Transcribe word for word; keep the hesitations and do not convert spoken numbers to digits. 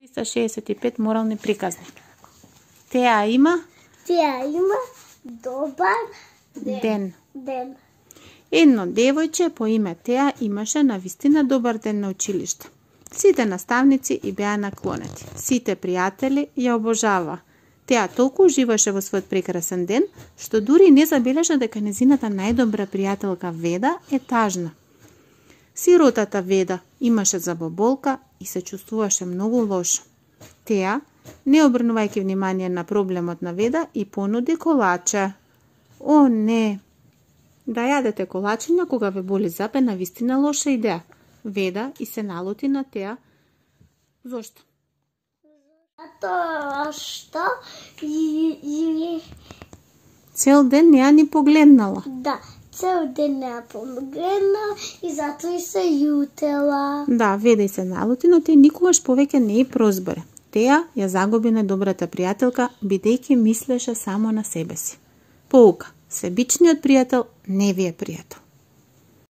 триста шеесет и пет морални приказни. Теа има Теа има добар ден. ден. ден. Едно девојче по име Теа имаше навистина добар ден на училиште. Сите наставници и беа наклонети. Сите пријатели ја обожава. Теа толку уживаше во својот прекрасен ден, што дури не забележа дека незината најдобра пријателка Веда е тажна. Сиротата Веда имаше забоболка и се чувствуваше многу лошо. Теа, не обрнувајќи внимание на проблемот на Веда, и понуди колаче. О, не! Да јадете колачиња кога ве боли зап е навистина лоша идеја. Веда и се налути на Теа. Зошто? Затоа што и, и... Цел ден не ја ни погледнала. Да, цел ден не ја помогна и затоа и се јутела. Да, Веда и се налути, но те никогаш повеќе не ја прозборе. Теа ја загуби најдобрата пријателка, бидејќи мислеше само на себе си. Поука, себичниот пријател не ви е пријател.